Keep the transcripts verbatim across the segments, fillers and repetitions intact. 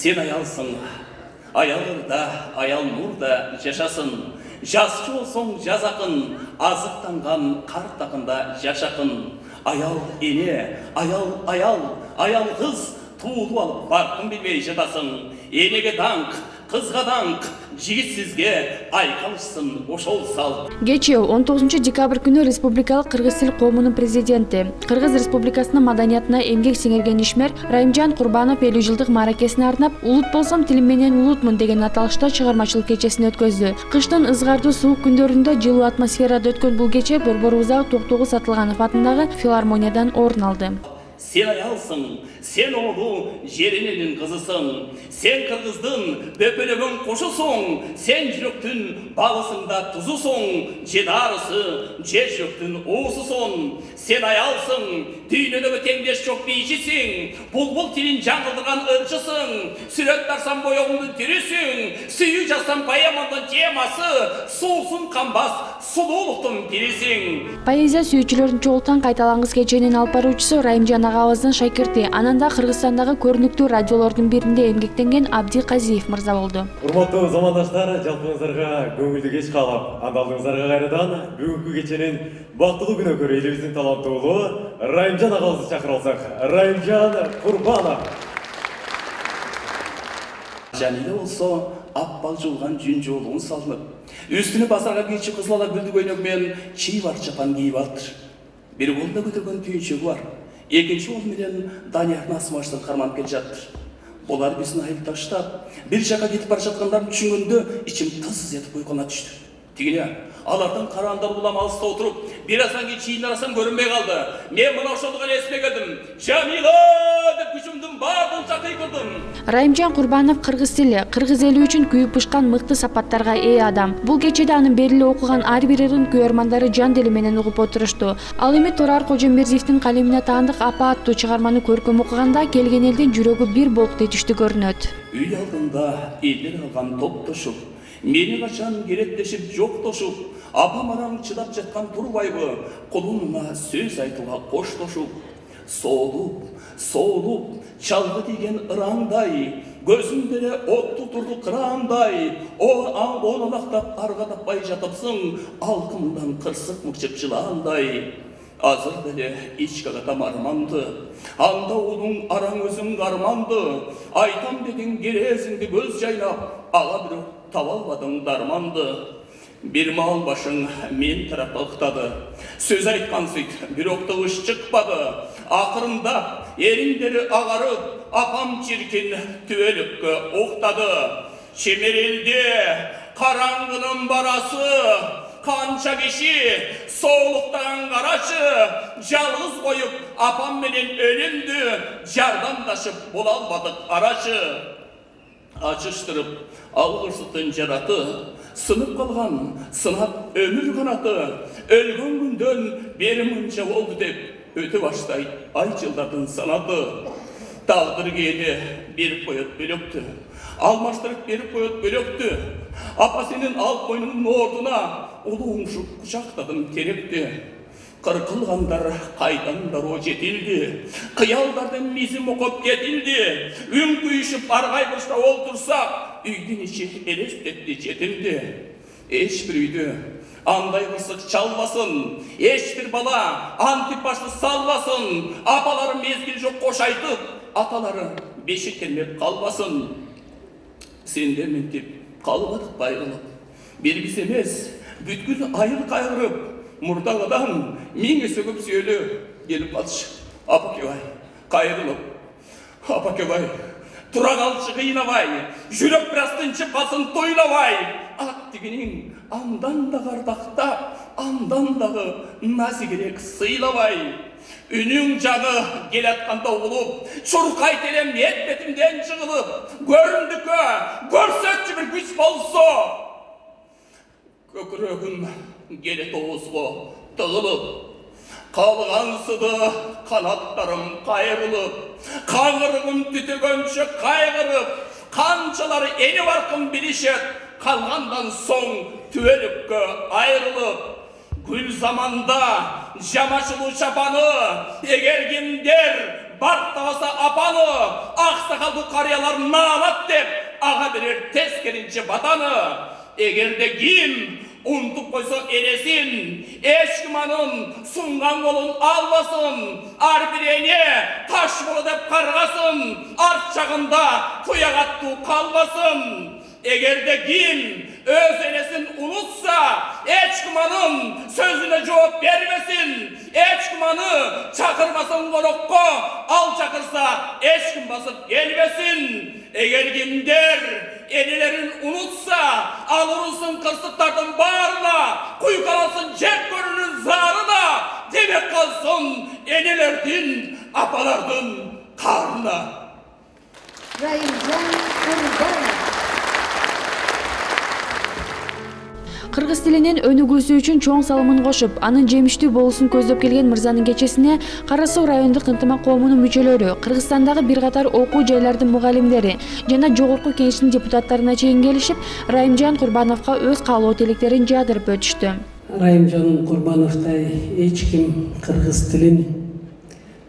Сен аялсың, аялырда, аял нурда жашасын. Жасчы болсоң жазакын, азыктанган карт акында жашакын. Аял эне, аял аял, аял кыз туулуп алып баркын билбей жатасың. Энеге даңк, кызга даңк, жигит сизге айкалышсын ошол сал. Кечээ он тогузунчу декабрь күнү Республикалык кыргыз тил коомунун президенти, Кыргыз Республикасынын маданиятына эмгек сиңирген ишмер Райымжан Курбанов элүү жылдык мааракесине арнап «Улут болсом тилим менен улутмун» деген аталышта чыгармачылык кечесин өткөздү. Кыштын ызгардуу суук күндөрүндө жылуу атмосферада өткөн бул кече Борбор Узак Токтогул Сатылганов атындагы филармониядан орун алды. Сен аялсың, сен оолу жериненин кызысың. Сен кыргыздын бөпөлөгөн кошусуң. Сен жүрөктүн балысың да тузусуң. Же дарысы, же жүрөктүн оосусуң. Сен аялсың, дүйнөдөгү теңдеш жок бийчисиң. Булбул тилин жаңылдырган ырчысың. Сүрөт тарсам боёңдун түрүсүң. Сүйүү жазсам поэмамдын темасы. Суусун канбас сулуулуктун пирисиң. Поэзия сүйүүчүлөрүн чогулткан кайталангыс кеченин алып баруучусу Райымжан агабыздын шакирти, ананда Кыргызстандагы көрүнүктүү радиолордун биринде эмгектенген Абди Казиев мырза болду. Урматтуу замандаштар, жалпыңыздарга көңүлдүү кеч каалап, андалдыгыңыздарга кайрадан бүгүнкү кеченин бактылуу күнөөкөрү элибиздин таланттуу уулу Райымжан агабызды чакырып алсак. Райымжан Курбанов. Жаниле болсо аппал жуулган жүн жолугун салынып, үстүнө базарга кийчи кызыл ала гүлдү көйнөк менен чийбар чапан кийип алыптыр. Бир колунда көтөргөн түйүнчөгү бар. Экинчи кол менен Даниярдын асмаштын карманып келе жатыр. Булар биздин айып таштап, бир жака кетип бара жаткандарын түшүнгөндө ичим тыз этип уйкуна түштү. Тигине алардын караандар улам алыста отуруп, бир аздан кийин чыйындарасам көрүнбөй калды. Мен мына ошондо гана эсиме келдим. Жамила деп күчүмдүн баардыгынча кыйкырдым. Райымжан Курбанов кыргыз тили, кыргыз эли үчүн күйүп бышкан мыкты сапаттарга ээ адам. Бул кечеде анын бериле окуган ар бир ырын күйөрмандары жан дили менен угуп отурушту. Ал эми Турар Кожомбердиевдин калемине таандык Апа аттуу чыгарманы көркөм окуганда келген элдин жүрөгү бир болуп тетиштүү көрүнөт. Үй алдында элдер алган топтошуп, мени качан керектешип жоктошуп, апам араң чыдап жаткан турбайбы, кулуна сөз айтууга коштошуп. Соолуп, соолуп, чалгы тийген ыраңдай, көзүндө от тутурду кыраандай, о оолактап арга таппай жатыпсың, алкымдан кырсык мыкчып жылаандай. Азыр деле ички катам арманды, анда уулуң араң өзүң арманды, айтам дедиң керезиңди көз жайнап, ала бирок таба албадың дарманды. Бир маал башың мен тарапка ыктады, сөз айткан сыйт, бирок тыгыш чыкпады. Акырында эриңдери агарып, апам чиркин түбөлүккө уктады. Чемерелде караңгынын барасы, канча киши соолуктан карачы, жалгыз коюп апам менен өлүмдү жардамдашып боло албадык арачы. Ачыштырып алгырсытын жараты, сынып калган сынап өмүр канаты, өлгөн күндөн бери мынча болду деп өтө баштайт ай жылдардын санаты. Тагдыр кээде берип коет бөлөктү, алмаштырып берип коет бөлөктү. Апа сенин ал койнунун ордуна улуңшуп кучактадым теректи. Кыркылгандар кайдан дароо жетилди, кыялдардын мизин окуп кетилди. Үн күйүшүп аргай бурчта олтурсак, үйдүн ичи элестетти жетимди. Эч бир үйдө андай кырсык чалбасын, эч бир бала антип башты салбасын. Апалары мезгил жок кош айтып, аталары бешик термеп калбасын. Сендер ментип калбадык байрылып, бир биз эмес, бүткүл айыл кайгырып, мурдагыдан миң эсе көп сүйөлө келип калчы. Апакебай кайрылып, апакебай тура калчы кыйнабай, жүрөк бир аз тынчып калсын тойлабай. Ат тигиниң андан да ардактап, андан дагы назигирээк сыйлабай. Үнүң жаны келатканда угулуп, чуркайт элем эт бетимден жыгылып. Көрүндүккө көрсөтчү бир күч болсо, көкүрөгүм келет оозго тыгылып. Калгансыды канаттарым кайрылып, каңырыгым түтөгөнчө кайгырып. Канчалары эни баркын билишет, калгандан соң түбөлүккө айрылып. Гүл заманда жамачылуу чапаны, эгер кимдер барктабаса апаны, аксакалдуу карыялар наалат деп ага берер тескеринче батаны. Эгерде ким унутуп койсо энесин, эч ким анын сунган колун албасын. Ар бир эне таш боло деп каргасын, арт жагында туяк аттуу калбасын. Эгерде ким өз энесин унутса, эч ким анын сөзүнө жооп бербесин. Эч ким аны чакырбасын конокко, ал чакырса эч ким басып келбесин. Эгер кимдер энелерин унутса, ал урусун кырсыктардын баарына, куйкаласын жеп көрүүнүн зарына, демек калсын энелердин, апалардын карына. Райымжан Курбанов. Кыргыз тилинин өнүгүүсү үчүн чоң салымын кошуп, анын жемиштүү болуусун көздөп келген мырзанын кечесине Кара Суу райондук ынтымак коомунун мүчөлөрү, Кыргызстандагы бир катар окуу жайлардын мугалимдери жана жогорку кеңештин депутаттарына чейин келишип, Райымжан Курбановго өз каалоо тилектерин жаадырып өтүштү. Райымжан Курбановтай эч ким кыргыз тилин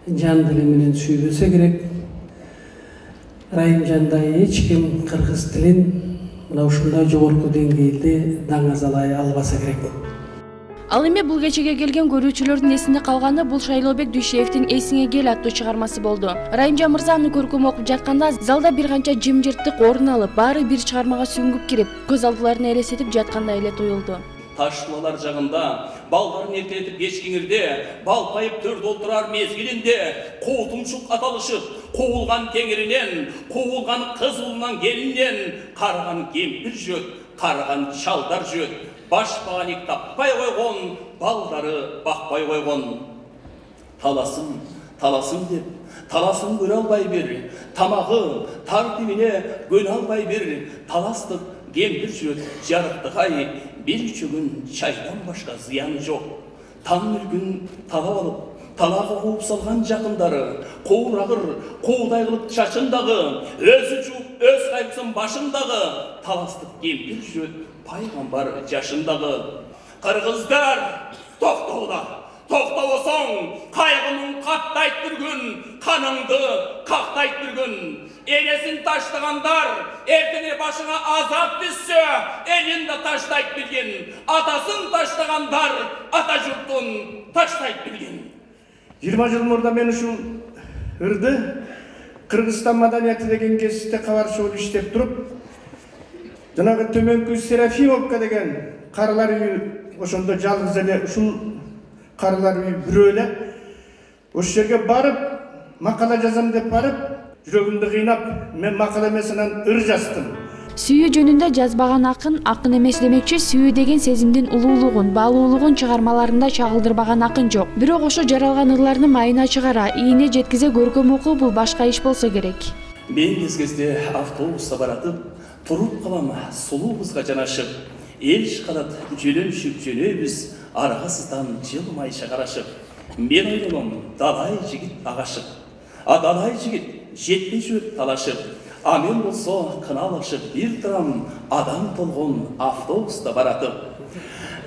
жан дили менен сүйбөсө керек. Райымжандай эч ким кыргыз тилин мына ушундай жогорку деңгээлде даңазалай албаса керек. Ал эми бул кечеге келген көрүүчүлөрдүн эсинде калганы бул Шайлообек Дүйшеевдин «Эсиңе кел» аттуу чыгармасы болду. Райымжан мырза аны көркөм окуп жатканда залда бир канча жымжырттык орун алып, баары бир чыгармага сүңгүп кирип, көз алдыларына элестетип жаткандай эле туюлду. Ташлалар жагында, балдарын эркелетип кечкиңирде, балпайып төрдө отурар мезгилинде, коотумчук аталышып, куулган теңиринен, куулган кыз уулунан келинден, карган кемпир жүрөт, карган чалдар жүрөт, баш бааник таппай койгон, балдары бакпай койгон. Таласын, таласын деп, таласын көрө албай бир, тамагы, тартибине көнө албай бир, таластык кемпир жүрөт, жарыктык ай, бир чөгүн чайдан башка зыяны жок. Таң мүлкүн талап алып, талага кууп салган жакындары, куурагыр, куудай кылып чачындагы, өзү жууп, өз кайгысын башындагы, таластык кемпир жүрөт, пайгамбар жашындагы. Кыргыздар, токтоолар, токтобосоң, кайгынын каттайт бир күн, каныңды кактайт бир күн. Энесин таштагандар, эртең башыңа азап түссө, элин да таштайт билгин. Атасын таштагандар, ата журтун таштайт билгин. жыйырма жыл мурда мен ушул ырды Кыргызстан маданияты деген кесипте кабар чогуу иштеп туруп, жанагы төмөнкү Серафимовка деген карылар үйү, ошондо жалгыз эле ушул карылар үйү бирөө эле. Ошол жерге барып, макала жазам деп барып, жүрөгүмдү кыйнап, мен макала эмес анан ыр жаздым. Сүйүү жөнүндө жазбаган акын акын эмес демекчи, сүйүү деген сезимдин улуулугун, баалуулугун чыгармаларында чагылдырбаган акын жок. Бирок ошо жаралган ырларны майына чыгара, ийине жеткизе көркөм окуу бул башка иш болсо керек. Мен кез-кезде автобуста баратып, туруп калам сулуу кызга жанашып, эл шкалат жөнөшүп жөнөбүз, аргасыздан жылмайша карашып. Мен ойлоном, далай жигит агашып, а далай жигит жетпей жүрөт талашып. А мен болсо кыналышып бир турам адам толгон автобуста баратып.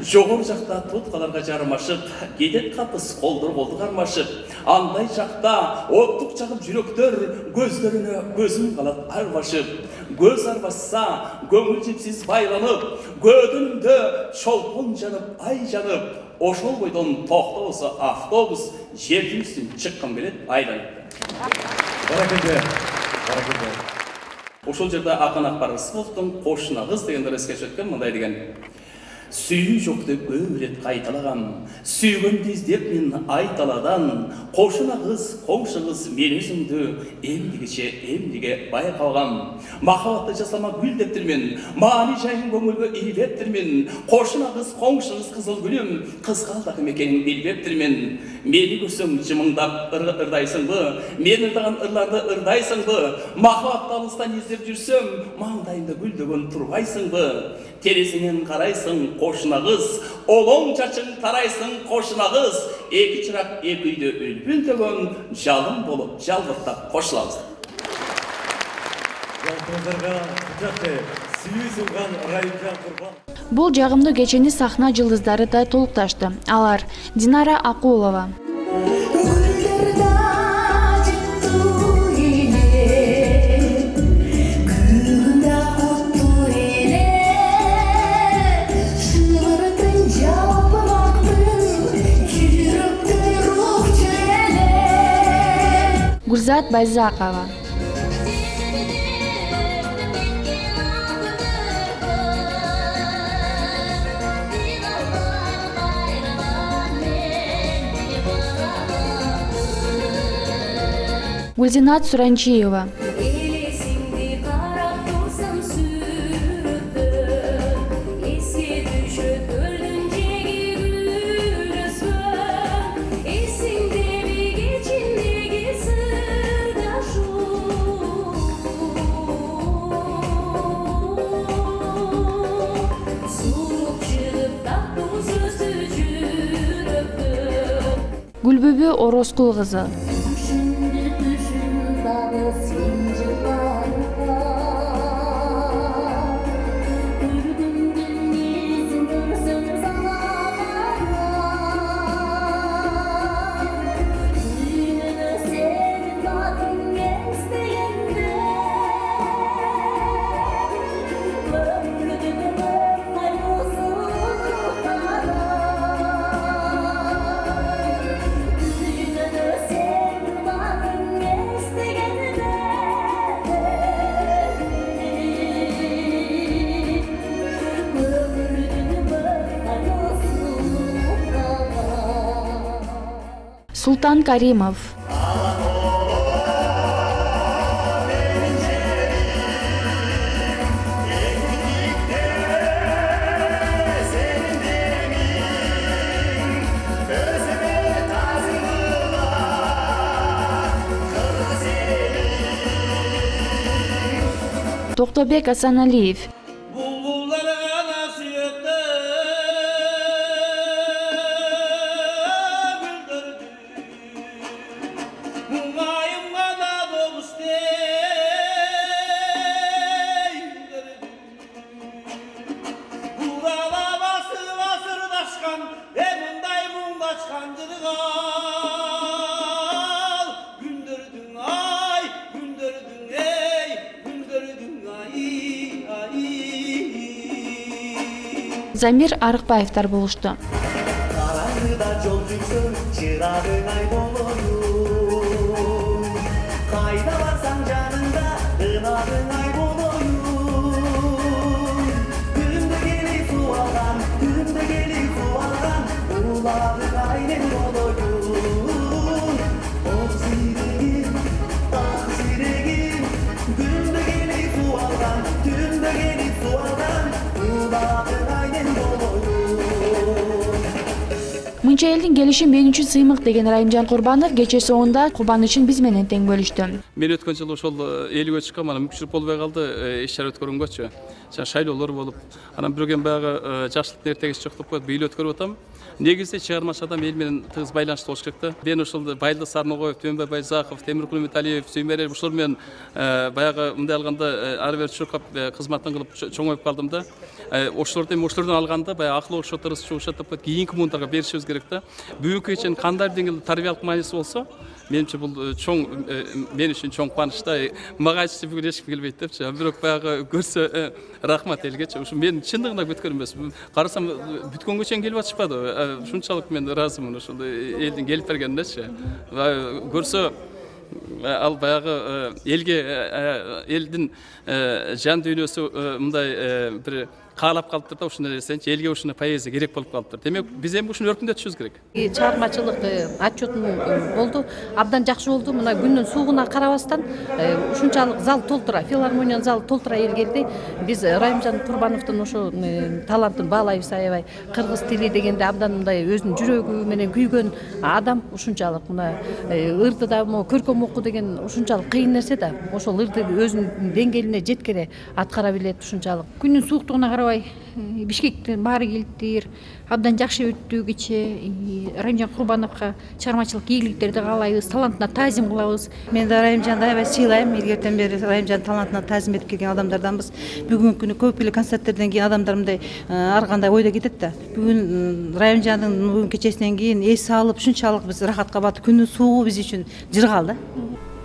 Жогор жакта туткаларга жармашып, кетет капыс колдор колду кармашып. Андай жакта оттук чагып жүрөктөр, көздөрүнө көзүм калат арбашып. Көз арбашса, көңүл жипсиз байланып, көдүндө чолпон жанып, ай жанып. Ошол бойдон токтобосо автобус жердин чыккан келет айланып. Баракелде, баракелде. Ошол жерде акын Акбар Рысқұловдун кошуна кыз дегендер эске түшөткөн мындай деген. Сүйүү жок деп көп рет кайталагам, сүйгөндү издеп мен айталадан, кошуна кыз, коңшу кыз мен өзүмдү эмдигиче эмдиге байкалгам. Махабатты жасама гүл дептирмен, маани жайын көңүлгө ийбептирмен. Кошуна кыз, коңшу кыз кызыл гүлүм, кызгалдак мекенин билбептирмен. Мени көрсөң жымыңдап ырдайсыңбы, мен ырдаган ырларды ырдайсыңбы? Махабатты алыстан издеп жүрсөм, маңдайымда гүлдөгөн турбайсыңбы? Терезеңен карайсың, кошуна кыз, олоң чачың тарайсың, кошуна кыз. Эки чырак эки үйдө үлпүлдөгөн, жалын болуп жалбыртап кошулабыз. Жалпыңыздарга кучакты сүйүү сунган Райымжан Курбанов. Бул жагымдуу кечени сахна жылдыздары да толукташты. Алар Динара Акулова, Нурзат Байзакова. Гүлзинат Суранчиева. Гүлбүбү Орозкул кызы. Султан Каримов. Токтобек Асаналиев. Замир Арыкбаевдар болушту. Мынча элдин келиши мен үчүн сыймык деген Райымжан Курбанов кече соңунда кубанычын биз менен тең бөлүштү. Мен өткөн жылы ошол элүүгө чыккан, мана мүмкүнчүлүк болбой калды, иш чара өткөргөнгөчү. Жана шайлоолор болуп, анан бирөөген баягы жакшылыктын эртегиси жок деп коет, бийлөө өткөрүп атам. Негизинде чыгармачы адам эл менен тыгыз байланышта болуш керек да. Мен ошол Байлы Сарногоев, Төөнбай Байзаков, Темиркул Үмүталиев, Сүймерер ушулар менен баягы мындай алганда ары бери чуркап кызматын кылып чоңоюп калдым да. Ошолорду эми ошолордон алганда баягы акыл ошо тырыс чугушат деп коет, кийинки муундарга беришибиз керек да. Бүгүнкү кеченин кандай деңгээлде тарбиялык мааниси болсо, менимче бул чоң, мен үчүн чоң кубаныч да. Мага айтышты бүгүн эч ким келбейт депчи. Бирок баягы көрсө рахмат элгечи. Ушу мен чындыгында күткөн эмес. Карасам бүткөнгө чейин келип атышпады. Ушунчалык мен ыраазымын ошол элдин келип бергенинечи. Көрсө ал баягы элге, элдин жан дүйнөсү мындай бир каалап калыптыр да, ушундай нерсенчи элге ушундай поэзия керек болуп калыптыр. Демек биз эми ушуну өркүндөтүшүбүз керек. Чыгармачылык отчетун болду, абдан жакшы болду. Мына күндүн суугуна карабастан ушунчалык зал толтура, филармониянын залы толтура эл келди. Биз Райымжан Курбановдун ошо талантын баалайбыз аябай. Кыргыз тили дегенде абдан мындай өзүнүн жүрөгү менен күйгөн адам ушунчалык мына ырды да көркөм окуу деген ушунчалык кыйын нерсе да. Ошол ырды өзүнүн деңгээлине жеткере аткара билет ушунчалык. Күндүн сууктугуна карабай Бишкектен баары келиптир. Абдан жакшы өттү кече. Райымжан Курбановго чыгармачылык ийгиликтерди каалайбыз, талантына таазим кылабыз. Мен да Райымжанды аябай сыйлайм. Илгертен бери Райымжан талантына таазим этип келген адамдарданбыз. Бүгүнкү күнү көп эле концерттерден кийин адамдар мындай ар кандай ойдо кетет да. Бүгүн Райымжандын бүгүн кечесинен кийин эс алып ушунчалык биз рахатка батып, күндүн суугу биз үчүн жыргал да.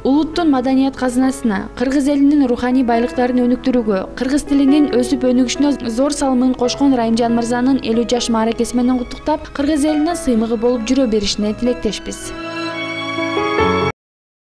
Улуттун маданият казынасына, кыргыз элинин руханий байлыктарын өнүктүрүүгө, кыргыз тилинин өсүп өнүгүшүнө зор салымын кошкон Райымжан мырзанын элүү жаш мааракеси менен куттуктап, кыргыз элинин сыймыгы болуп жүрө беришине тилектешпиз.